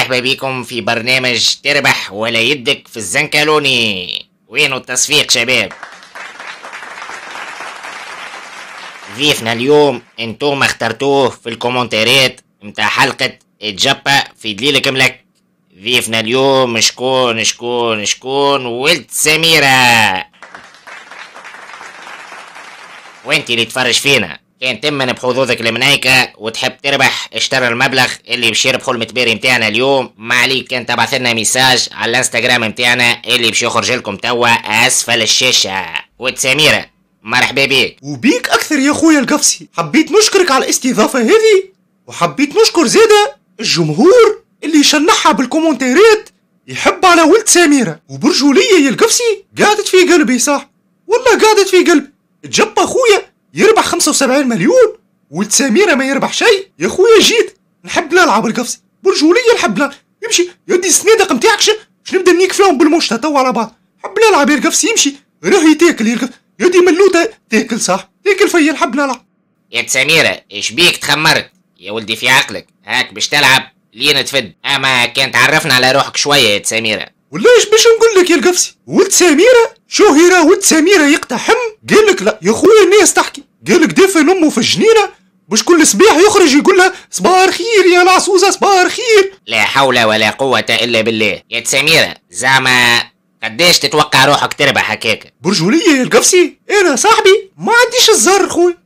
ومرحبا بكم في برنامج تربح ولا يدك في الزنكالوني. وينو التصفيق شباب؟ ضيفنا اليوم انتم اخترتوه في الكومنتارات متاع حلقة جبا في دليلك ملك. ضيفنا اليوم شكون شكون شكون؟ ولد سميرة. وانت اللي تفرج فينا كان تمن بحظوظك المنايكة وتحب تربح، اشترى المبلغ اللي باش يربحوا المتباري متاعنا اليوم. ما عليك كان تبعث لنا message على الانستغرام متاعنا اللي باش يخرج لكم توا اسفل الشاشة. ولد سميرة مرحبا بيك. وبيك اكثر يا خويا القفصي. حبيت نشكرك على الاستضافة هذه، وحبيت نشكر زادة الجمهور اللي شنحها بالكومنتارات يحب على ولد سميرة. وبرجولية يا القفصي قعدت في قلبي، صح والله قعدت في قلبي. تجبى خويا يربح 75 مليون ولد سميرة ما يربح شيء. يا خويا جيت نحب نلعب القفصي برجولية، نحب نلعب. يمشي يدي الصنادق نتاعك باش نبدا نيك فيهم بالمشطة تو على بعض. نحب نلعب يا القفصي، يمشي راهي تاكل يا القفصي، يدي ملوتة تاكل صح تاكل فيا. نحب نلعب. يا سميرة ايش بيك تخمرت يا ولدي في عقلك؟ هاك باش تلعب لين تفد. اما كان تعرفنا على روحك شوية يا سميرة. ولا ايش باش نقول لك يا القفصي؟ ولد سميرة شهر ولد سميرة يقتحم، قال لك لا يا خويا الناس تحكي، قال لك دافن امه في الجنينة باش كل صباح يخرج يقول لها صباح الخير يا العصوزه صباح الخير. لا حول ولا قوة الا بالله. يا سميرة زعما قداش تتوقع روحك تربح هكاك؟ برجولية يا القفصي انا صاحبي ما عنديش الزهر خويا،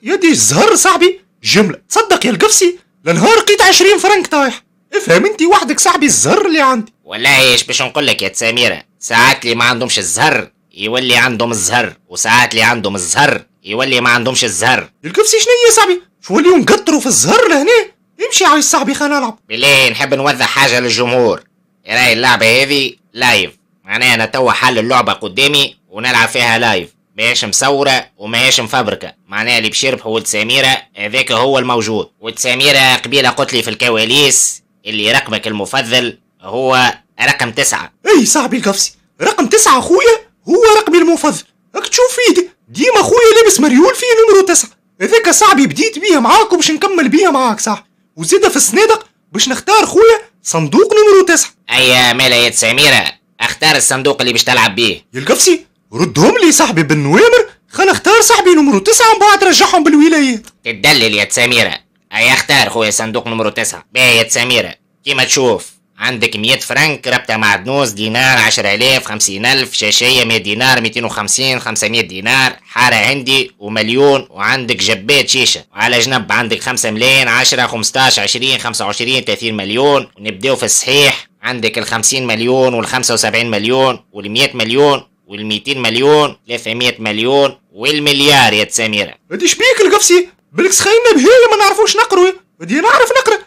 يدي الزهر صاحبي جملة. تصدق يا القفصي لنهار لقيت 20 فرنك طايح. افهم انت وحدك صاحبي الزهر اللي عندي. والله ايش باش نقول لك يا سميرة، ساعات اللي ما عندهمش الزهر يولي عندهم الزهر، وساعات اللي عندهم الزهر يولي ما عندهمش الزهر. القفصي شنو هي صاحبي؟ شو اليوم نقطروا في الزهر لهنا؟ امشي عايز صاحبي خلينا نلعب. بالله نحب نوضح حاجة للجمهور، راهي اللعبة هذه live، معناها انا توا حل اللعبة قدامي ونلعب فيها live، ماهيش مصورة وماهيش مفبركة، معناها اللي باش يربحوا ولد سميرة هذاك هو الموجود. ولد سميرة قبيلة قلت لي في الكواليس اللي رقمك المفضل هو رقم 9. اي صاحبي القفصي رقم 9 خويا هو رقمي المفضل. راك تشوف فيه ديما خويا لابس مريول فيه numéro 9، هذاك صاحبي بديت بيه معاك وباش نكمل بيه معاك صح. وزيد في الصنادق باش نختار خويا صندوق numéro 9. اي مالا يا سميرة اختار الصندوق اللي باش تلعب بيه. يا القفصي ردهم لي صاحبي بالنوامر، خلينا نختار صاحبي numéro 9 ومن بعد رجعهم بالولايات. تدلل يا سميرة. اي اختار خويا صندوق numéro 9. باهي يا سميرة كيما تشوف عندك 100 فرنك، ربطة معدنوس، دينار، 10,000، 50,000، شاشية 100 دينار، 250، 500 دينار، حارة هندي ومليون، وعندك جبات شيشة، وعلى جنب عندك 5 ملايين، 10، 15، 20، 25، 30 مليون. ونبداو في الصحيح عندك 50 مليون وال75 مليون وال100 مليون وال200 مليون، 300 مليون والمليار يا سميرة. هادي شبيك القفصي؟ بالك سخينا بهاية ما نعرفوش نقرو. هادي نعرف نقرا،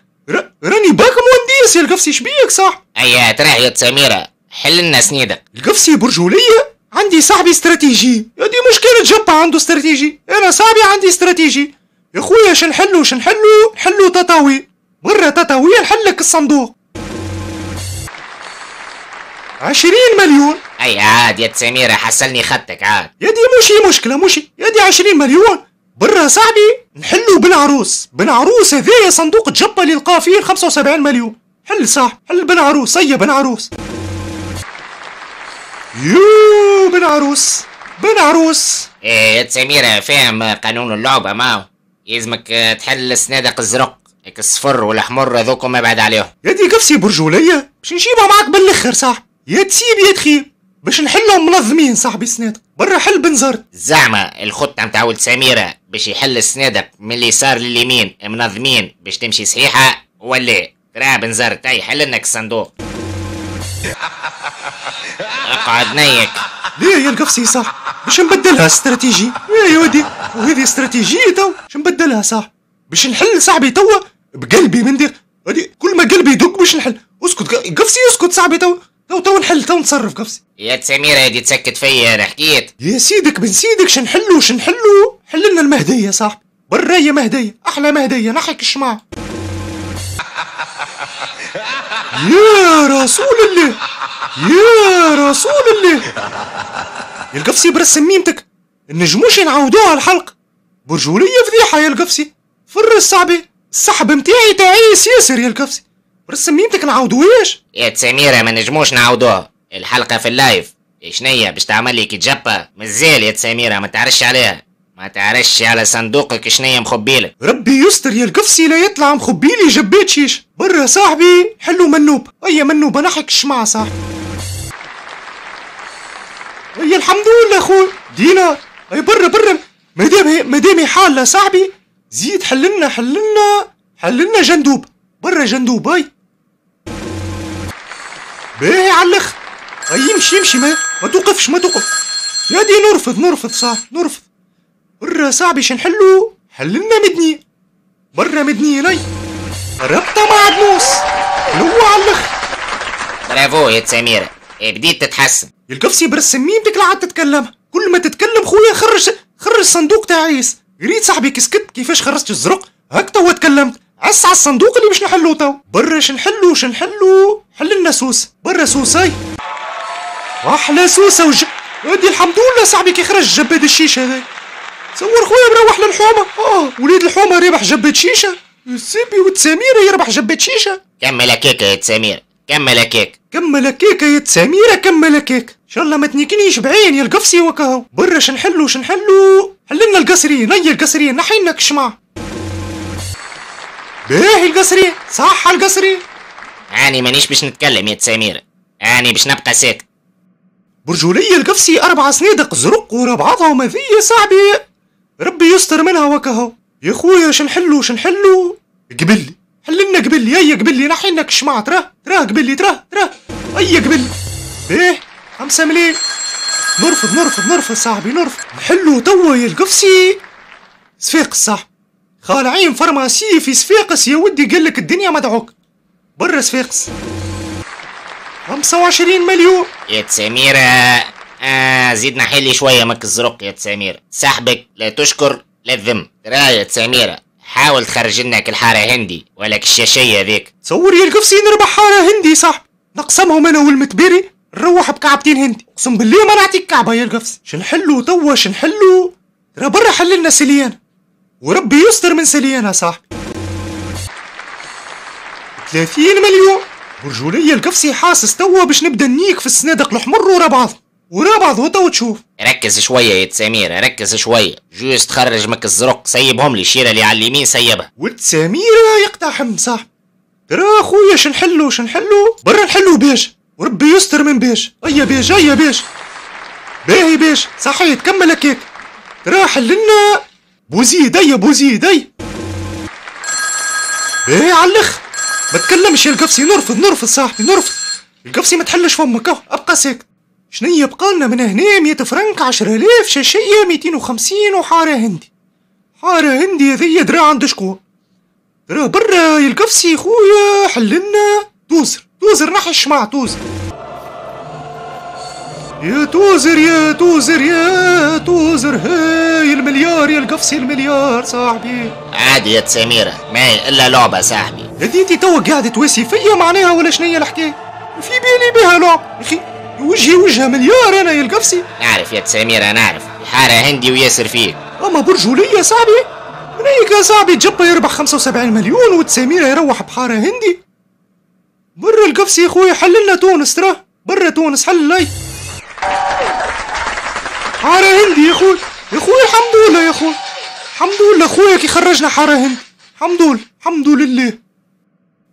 راني باك مهندس يا القفصي شبيك صح؟ ايا تراه يا سميرة حل لنا سنيدك. القفصي برجولية عندي صاحبي استراتيجي، هادي مش كانت جبا عنده استراتيجي، انا صاحبي عندي استراتيجي. يا خويا شنحلو شنحلو نحلو تطاوي، مرة تطاوية نحلك الصندوق 20 مليون. اي عاد يا سميرة حصلني خدتك عاد. يا دي مشي مشكلة مشي، يا دي 20 مليون برا صاحبي نحلو بن عروس. بن عروس هذايا صندوق جبة اللي لقاه فيه 75 مليون. حل صح حل بن عروس. هيا بن عروس، يو بن عروس بن عروس. ايه يا سميرة فاهم قانون اللعبة، ماو يلزمك تحل الصنادق الزرق الصفر والأحمر هذوكم ابعد عليهم. يا دي قفصي برجولية باش نجيبها معاك بالاخر صح، يا تسيب يا تخيب باش نحلهم منظمين صاحبي الصنادق. برا حل بنزرت. زعما الخطة نتاع ولد سميرة باش يحل الصنادق من اليسار لليمين منظمين باش تمشي صحيحة ولا؟ ترى بنزرت اي حل لك الصندوق. اقعد نيك. ليه يا القفصي صح؟ باش نبدلها استراتيجي. يا ودي وهذه استراتيجية تو باش نبدلها صح، باش نحل صاحبي توا بقلبي من دير هذه كل ما قلبي يدق باش نحل. اسكت قفصي اسكت صاحبي تو تو تو نحل تو نتصرف قفصي. يا سميرة هادي تسكت فيا انا حكيت. يا سيدك بن سيدك شنحلو شنحلو. حل لنا المهدية صاحبي، برا يا مهدية، احلى مهدية نحك الشماع. يا رسول الله يا رسول الله. يا القفصي برسم ميمتك النجموش نعاودوها الحلقة. برجولية فضيحة يا القفصي. فرس صاحبي السحب متاعي تعيس ياسر يا القفصي. برسم ميمتك نعاودوهاش؟ يا سميرة ما نجموش نعاودوها، الحلقة في ال live. شنية باش تعمل لي كي مازال يا سميرة ما تعرفش عليها، ما تعرفش على صندوقك شنية مخبيلك. ربي يستر يا القفصي لا يطلع مخبيلي جبات شيش. برا صاحبي حلو منوب، اي منوب نحك الشمعة صاحبي. اي الحمد لله خويا دينار. اي برا برا مادام حالة صاحبي، زيد حللنا حللنا حللنا جندوب، برا جندوب. اي باهي على الاخر. اي يمشي يمشي ما توقفش ما توقف يا دي. نرفض نرفض صاحبي نرفض. برا صاحبي شنحلو؟ حللنا مدني، برا مدني لي ربطة مع دنوس حلوة على الاخر. برافو يا سميرة، بديت تتحسن. القفصي برسم ميمتك لا عاد تتكلم، كل ما تتكلم خويا خرج خرج صندوق تعيس. ريت صاحبي كسكت كيفاش خرجت الزرق، هاك توا تكلمت. عس على الصندوق اللي باش نحلو تو. برا شنحلو شنحلو؟ حللنا سوس، برا سوساي. احلى سوسة وج ودي الحمد لله صاحبي كي خرج جباد الشيشة هذا. صور خويا مروح للحومه، وليد الحومه ربح جباد شيشة، السيبي وتساميره يربح جباد شيشة. كمل هكاك يا سمير، كمل هكاك، كمل هكاك يا سميرة، كمل هكاك. ان شاء الله ما تنيكنيش بعين يا القفصي وكاهو. برا شنحلو شنحلو؟ حللنا القصرين، هيا القصرين نحينا الشمع. باهي القصرين، صح القصرين. اني مانيش باش نتكلم يا سميرة، اني باش نبقى ساكت. برجولية القفصي 4 صنادق زرق ورا بعضهم هذي يا صاحبي، ربي يستر منها وكاهو. يا خويا شنحلو شنحلو؟ قبلي حللنا قبلي، هيا قبلي نحينا الشمع. تراه تراه قبلي، تراه تراه، هيا قبلي. باهي 5 مليون. نرفض نرفض نرفض صاحبي نرفض. نحلو توا يا القفصي صفاقس صاحبي، خالعين pharmacie في صفاقس يا ودي، قالك الدنيا مدعوك. برا صفاقس 25 مليون. يا سميرة زيد نحلي شوية مك الزرق يا سميرة، سحبك لا تشكر لا تذم. ترى يا سميرة حاول تخرج لنا الحارة هندي ولا الشاشية ذيك. تصور يا القفصي نربح حارة هندي صاحبي، نقسمهم انا والمتبري نروح بكعبتين هندي، اقسم بالله ما نعطيك كعبة يا القفص. شنحلو توا شنحلو؟ ترى برا حللنا سليانة، وربي يستر من سليانة صاحبي. 30 مليون. برجولية القفصي حاسس توا باش نبدا نيك في الصنادق الحمر ورا بعض ورا بعض وتوا تشوف. ركز شوية يا سميرة، ركز شوية، juste خرج مك الزرق، سيبهم لي الشيرة اللي على اليمين سيبها. ولد سميرة يقتحم صاحبي. ترى خويا شنحلو شنحلو؟ برا نحلو باش، وربي يستر من باش. هيا باش هيا باش، باهي باش صحيت كمل هكاك. ترى حللنا بوزيد، هيا بوزيد، هيا باهي على الاخر. ما تكلمش يا القفصي، نرفض نرفض صاحبي نرفض. القفصي ما تحلش فمك، ابقى ساكت. شنيا بقالنا من هنا؟ 100 فرنك، 10000، شاشية، 250، وحارة هندي. حارة هندي هذيا درا عند شكون؟ درا برا يا القفصي خويا حللنا توزر، توزر نحي الشمع توزر. يا توزر يا توزر يا توزر، هاي المليار يا القفصي المليار صاحبي. عادي يا سميرة، ما هي الا لعبة صاحبي. هذي انت توا قاعدة تواسي فيا معناها ولا شنيا الحكاية؟ في بالي بها لعب يا اخي، وجهي وجه مليار انا يا القفصي. نعرف يا سميرة نعرف، الحارة هندي وياسر فيك. اما برجولية صاحبي، منيك يا صاحبي جبا يربح 75 مليون وتسميرة يروح بحارة هندي. برا القفصي يا خويا حللنا تونس، ترى برا تونس حل لي حارة هندي يا خويا. يا خويا الحمد لله يا خويا، الحمد لله خويا كي خرجنا حارة هندي، الحمد لله الحمد لله.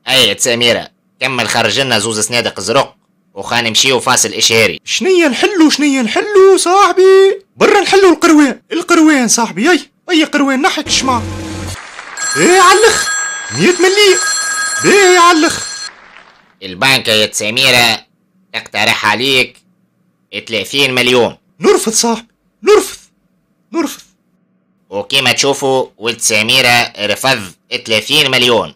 اي سميرة كمل خرج لنا زوز صنادق زرق وخا نمشيو فاصل اشهاري. شنيا نحلو شنيا نحلو صاحبي؟ برا نحلو القروان، القروان صاحبي. اي اي قروان نحك الشمع. ايه علخ 100 مليم، باهي علخ. البنكة يا سميرة تقترح عليك 30 مليون. نرفض صاحبي نرفض نرفض. وكما تشوفوا ولد سميرة رفض 30 مليون.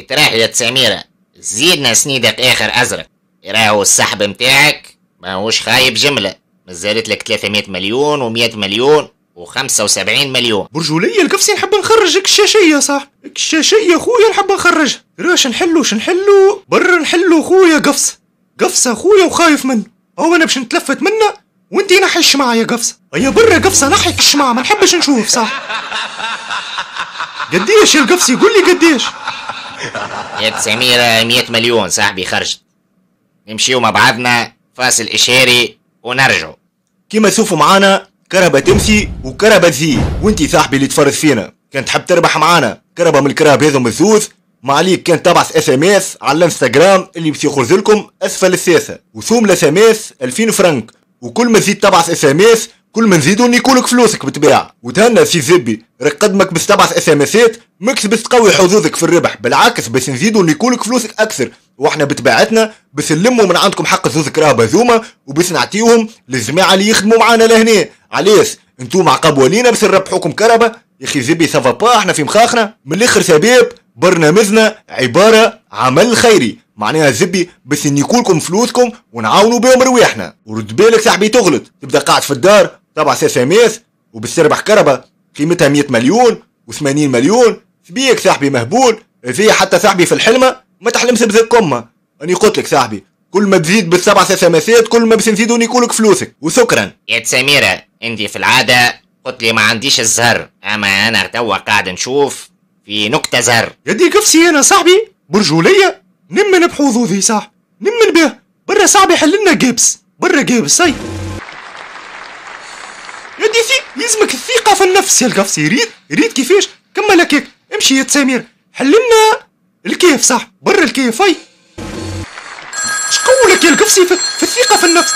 تراه يا سميرة زيدنا سنيدك اخر ازرق، راهو السحب متاعك ماهوش خايب جملة، مازالت لك 300 مليون و100 مليون و75 مليون. برجولية القفصي نحب نخرجك الشاشية صاحبي، الشاشية خويا نحب نخرجها. راش نحلو شنحلو؟ برا نحلو خويا قفص، قفصة خويا وخايف منه، هو انا باش نتلفت منه وانتي نحي الشمعة يا قفصة. هيا برا قفصة نحي الشمعة، ما نحبش نشوف صح. قديش يا القفصي؟ قول لي قديش. يا سميرة 100 مليون صاحبي خرجت. نمشيو مع بعضنا فاصل إشهاري ونرجعوا. كيما تشوفوا معانا كرهبة تمشي وكرهبة تزيد، وانتي صاحبي اللي تفرج فينا كان تحب تربح معانا كرهبة من الكراهب هذم الزوز، ما عليك كان تبعث SMS على الانستغرام اللي باش يخرج لكم اسفل الشاشة، وسوم ال SMS 2000 فرنك، وكل ما تزيد تبعث SMS كل ما نزيدو نيكولك فلوسك بالطبيعة. وتهنى سي زبي، راك قدمك باش تبعث SMS ات ماكش باش تقوي حظوظك في الربح، بالعكس باش نزيدو نيكولك فلوسك اكثر، واحنا بطبيعتنا باش نلموا من عندكم حق زوز كراهب هذوما وباش نعطيوهم للجماعة اللي يخدموا معانا لهنا. علاش؟ انتوما عقاب ولينا باش نربحوكم كرهبه يا اخي زبي، ça va pas احنا في مخاخنا. من الاخر شباب، برنامجنا عبارة عمل خيري، معناها زبي باش نيكولكم فلوسكم ونعاونوا بهم رواحنا. ورد بالك صاحبي تغلط، تبدا قاعد في الدار تبعث SMS وباش تربح كرهبه قيمتها 100 مليون و80 مليون، سبيك صاحبي مهبول، في حتى صاحبي في الحلمة ما تحلمش بذكمه. اني قلت لك صاحبي كل ما تزيد بالسبع SMS ات كل ما باش نزيدوا نيكولك فلوسك. وشكرا. يا سميرة انت في العادة قلت لي ما عنديش الزهر، اما انا توا قاعد نشوف في نكتة زهر. يا دي كفسي انا صاحبي برجولية نمن بحظوظي صاحبي، نمن به برا صاحبي حل لنا جبس برا جبس. اي يا دي في يلزمك الثقة في النفس يا القفصي. ريد ريد كيفاش كمل هكاك، امشي يا سمير حل لنا الكيف صح برا الكيف. اي شقولك يا القفصي في الثقة في النفس.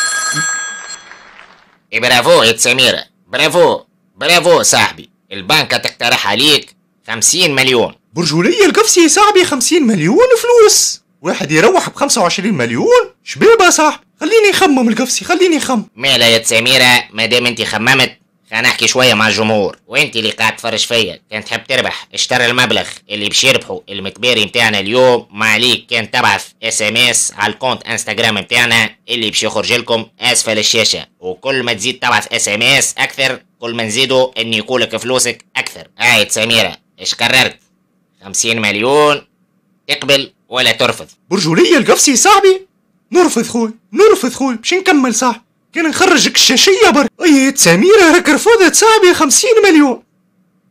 برافو يا سميرة، برافو برافو صاحبي. البنكة تقترح عليك 50 مليون. برجولية القفصي صاحبي 50 مليون فلوس، واحد يروح ب 25 مليون شبيبة صاحبي. خليني نخمم القفصي، خليني نخمم. مالا يا سميرة ما دام انت خممت خلينا نحكي شوية مع الجمهور، وانت اللي قاعد تفرج فيا كان تحب تربح اشتري المبلغ اللي باش يربحوا المتباري نتاعنا اليوم. ما عليك كان تبعث SMS على ال compte انستغرام نتاعنا اللي باش يخرج لكم اسفل الشاشة، وكل ما تزيد تبعث SMS اكثر كل ما نزيدوا ان يقولك فلوسك اكثر. هاي سميرة ايش قررت؟ 50 مليون تقبل ولا ترفض؟ برجولية القفصي صاحبي نرفض خوي، نرفض خوي باش نكمل صاحبي، كان نخرجك الشاشية برك. اي سميرة راك رفضت صاحبي 50 مليون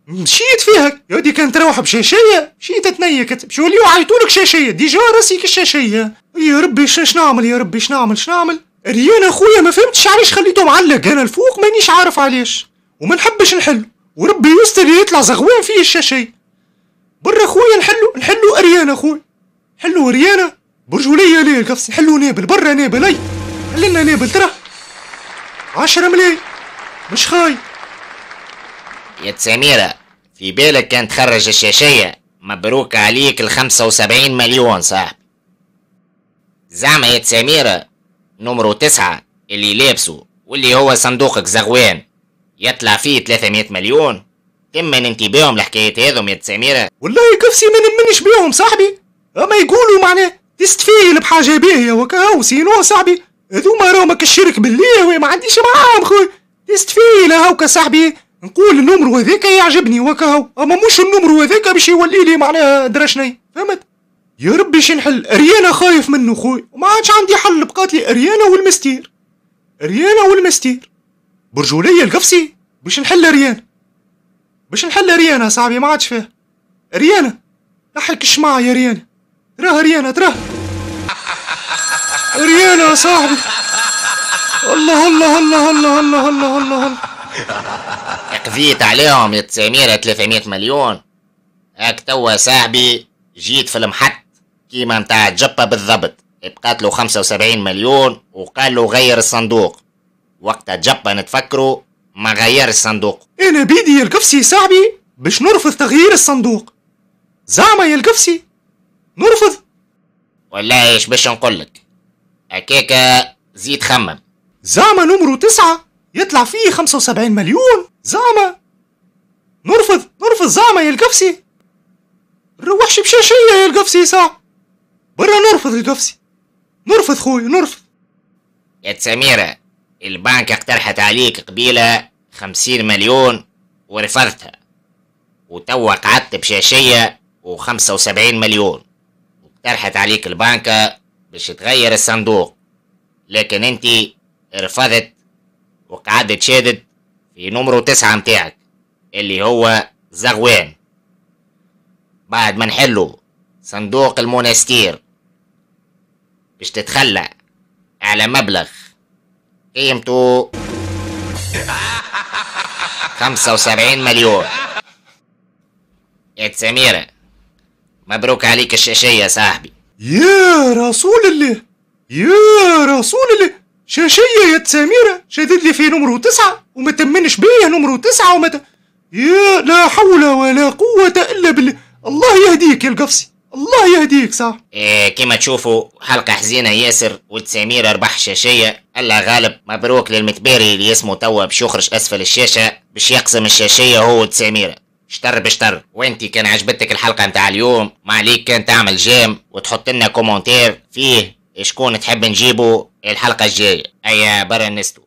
مشيت فيها يا ودي. كان تروح بشاشية مشيت تنيكت باش يوليو عيطولك شاشية déjà راسك الشاشية. يا ربي شنو نعمل يا ربي، شنو نعمل شنو نعمل؟ ريان اخويا ما فهمتش علاش خليته معلق انا الفوق، مانيش عارف علاش وما نحبش نحل، وربي يستر يطلع زغوان فيه الشاشية. برا خويا نحلو نحلو اريانا خويا، حلو اريانا برجولية ليه القفص، حلو نابل برا نابل. اي حللنا نابل ترى 10 ملايين مش خاي. يا سميرة في بالك كان تخرج الشاشية مبروك عليك ال 75 مليون صاحبي. زعما يا سميرة نمرو 9 اللي لابسه واللي هو صندوقك زغوان يطلع فيه 300 مليون، تمن انت بيهم الحكايات هذم يا سميرة؟ والله قفصي ما نمنش بيهم صاحبي، اما يقولوا معناه تستفيل بحاجة باهية وكاهو sinon صاحبي هذوما راهم كالشرك بالله وما عنديش معاهم خويا. تستفيل هاوكا صاحبي نقول ال numéro هذاك يعجبني وكاهو، اما مش ال numéro هذاك باش يولي لي معناها درا شني، فهمت؟ يا ربي شي نحل اريانا خايف منه خويا وما عادش عندي حل، بقات لي اريانا والمستير، اريانا والمستير. برجولية القفصي باش نحل اريانا، باش نحل اريانا صاحبي ما عادش فيه اريانا. نحلك الشماعة يا ريانا، تراه اريانا تراه اريانا يا صاحبي. الله الله الله الله الله الله الله الله. قضيت عليهم يا سميرة 300 مليون. هاك توا صاحبي جيت في المحط كيما نتاع جبة بالضبط، بقات له 75 مليون وقال له غير الصندوق. وقتها جبة نتفكروا ما غير الصندوق. انا بيدي يا القفصي صاحبي باش نرفض تغيير الصندوق. زعما يا القفصي نرفض؟ والله ايش باش نقولك، هكاكا زيد خمم. زعما numéro 9 يطلع فيه 75 مليون، زعما نرفض نرفض زعما يا القفصي. نروحش بشاشية يا القفصي صح برا، نرفض القفصي نرفض خويا نرفض. يا سميرة البنك اقترحت عليك قبيلة 50 مليون ورفضتها، وتوا قعدت بشاشية و75 مليون، واقترحت عليك البنكة باش تغير الصندوق، لكن انت رفضت وقعدت شادد في نمرو 9 متاعك اللي هو زغوان. بعد ما نحلو صندوق المونستير باش تتخلى على مبلغ قيمته 75 مليون. يا سميرة مبروك عليك الشاشية يا صاحبي. يا رسول الله، يا رسول الله، شاشية يا سميرة، شادد لي في نمرو 9 وما تمنش بيا نمرو 9 وما يا لا حول ولا قوة إلا بالله. الله يهديك يا القفصي، الله يهديك. صح. إيه كما تشوفوا حلقة حزينة ياسر، ولد سميرة ربح شاشية، الله غالب. مبروك للمتباري اللي اسمه توا باش يخرج أسفل الشاشة باش يقسم الشاشية هو ولد سميرة، شطر بشطر. وانت كان عجبتك الحلقة متاع اليوم ما عليك كان تعمل j'aime وتحط لنا commentaire فيه شكون تحب نجيبه الحلقة الجاية. أيا برا نستو.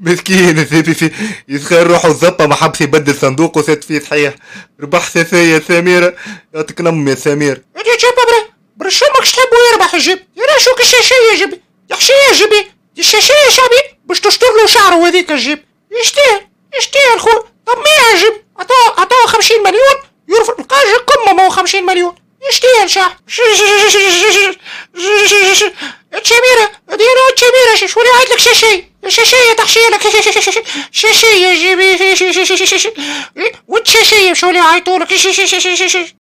مسكين الثابي في يتخيل روحه الزبطة ما حبش يبدل صندوقه ثات فيه صحيح. ربح ثلاثة يا سميرة، يعطيك نم يا سمير. يا جيب برا برا شو ماكش تحبو يربح الجيب؟ يا شوك الشاشية يا جيبي، يا حشية يا جيبي، الشاشية يا شعبي باش تشطر له شعره هذيك الجيب. يشتيه يشتيه الخو. طب ما يعجب، عطاه 50 مليون يرفض القاجة قمة، ما هو 50 مليون يشتيه الشعب. تشاميرة ديرو تشاميرة، شو اللي عاد لك شاشية شاشية تحشية لك شاشية جيبي وتشاشية شو اللي عيطولك.